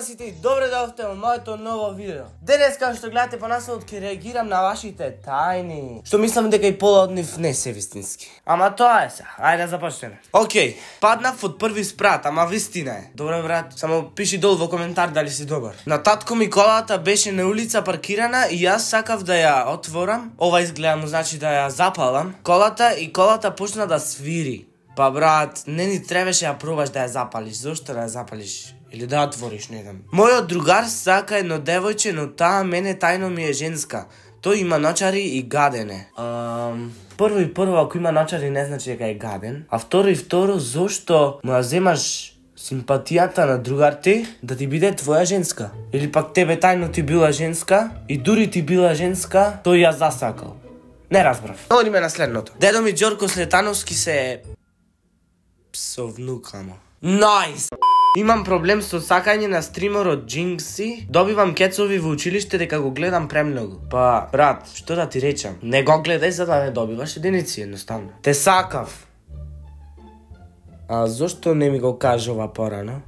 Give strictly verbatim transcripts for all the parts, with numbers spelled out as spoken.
сите и добре дојдовте во моето ново видео. Денес, како што гледате по насловот, ќе реагирам на вашите тајни, што мислам дека и пола од нив не се вистински. Ама тоа е се. Ајде да започнеме. Океј, паднав од први спрат, ама вистина е. Добре брат, само пиши долу во коментар дали си добар. На татко ми колата беше на улица паркирана и јас сакав да ја отворам. Ова изгледа му значи да ја запалам колата и колата почна да свири. Па брат, не ни требаше ја пробаш да ја запалиш. Зошто да ја запалиш? Или да ја отвориш, не знам. Мојот другар сака едно девојче, но таа мене тајно ми е женска. Тој има ночари и гаден е. Um, прво и прво, ако има ночари не значи дека е гаден. А второ и второ, зошто му ја земаш симпатијата на другар ти да ти биде твоја женска? Или пак тебе тајно ти била женска и дури ти била женска, тој ја засакал. Не разбрав. Одиме на следното. Дедо ми Ѓорко Слетановски се со внука му. Најс! Имам проблем со сакање на стримерот Джинкси. Добивам кецови во училиште дека го гледам премногу. Па, брат, што да ти речам? Не го гледај за да не добиваш единици, едноставно. Те сакав. А зошто не ми го кажува порано?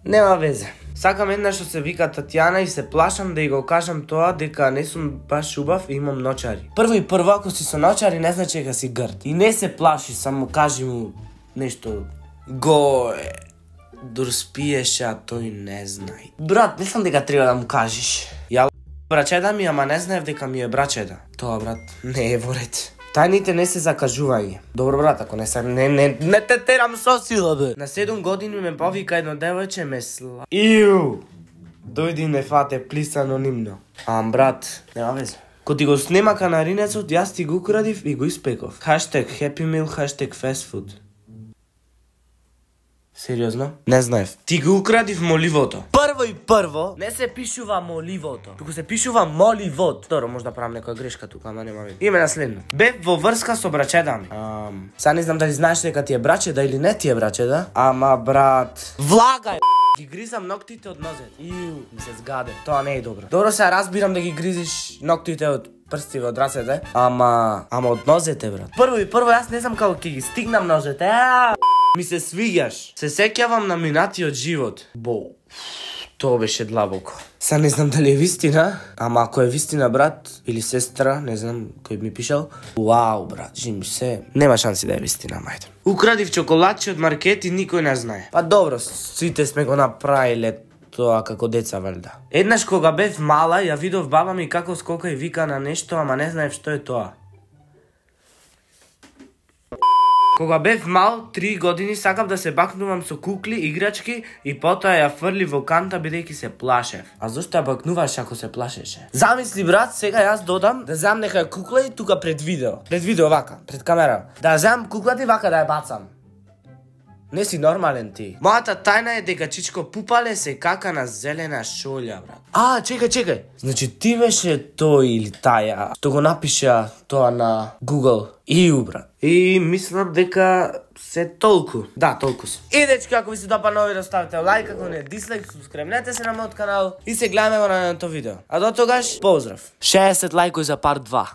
Нема везе. Сакам една што се вика Татјана и се плашам да ја го кажам тоа дека не сум баш убав и имам ночари. Прво и прво, ако си со ночари не значи дека си грд. И не се плаши, само кажи му нешто. Го е. Дур спиеш, а тој не знај. Брат, мислам дека треба да му кажеш. Ја брачеда ми, ама не знаев дека ми е брачеда. Тоа, брат, не е во ред. Тајните не се закажување. Добро брат, ако не се не не не те терам со сила бе. На седум години ме повика едно девојче ме сла. Иу. Дојди ме фате, плис анонимно. Ам брат, нема везе. Ко ти го снема канаринецот, јас ти го украдив и го испеков. Хаштег Happy Meal, хаштег Fast Food. Сериозно? Не знаев. Ти го украдив моливото. Прво и прво, не се пишува моливото, туку се пишува моливот. Второ, може да правам некоја грешка тука, ама нема веќе. Име на следно. Бев во врска со брачеда ми. Ам, са не знам дали знаеш дека ти е брачеда или не ти е брачеда, ама брат, влагај. Ги гризам ноктите од нозет. Иу, ми се згаде. Тоа не е добро. Добро се разбирам да ги гризиш ноктите од прстиве од рацете, ама ама од нозете, брат. Прво и прво јас не знам како ќе ги стигнам нозете. Ми се свиѓаш. Се сеќавам на минатиот живот. Бо, тоа беше длабоко. Са не знам дали е вистина, ама ако е вистина брат или сестра, не знам кој ми пишал. Вау, брат, жим се. Нема шанси да е вистина, мајде. Украдив чоколадче од маркет и никој не знае. Па добро, сите сме го направиле тоа како деца, валда. Еднаш кога бев мала, ја видов баба ми како скока и вика на нешто, ама не знаев што е тоа. Кога бев мал, три години, сакав да се бакнувам со кукли, играчки и потоа ја фрли во канта бидејќи се плашев. А зошто ја бакнуваш ако се плашеше? Замисли брат, сега јас додам да земам нека кукла и тука пред видео. Пред видео вака, пред камера. Да земам куклата и вака да ја бацам. Не си нормален ти. Мојата тајна е дека Чичко Пупале се кака на зелена шолја, брат. А, чекај, чекај. Значи ти беше тој или таја што го напиша тоа на Google. Иу, брат. И мислам дека се толку. Да, толку се. И дечки, ако ви се допадна видео, ставите лайк, ако не дислайк, субскребнете се на мојот канал и се гледаме во наредното видео. А до тогаш, поздрав. шеесет лајкови за парт два.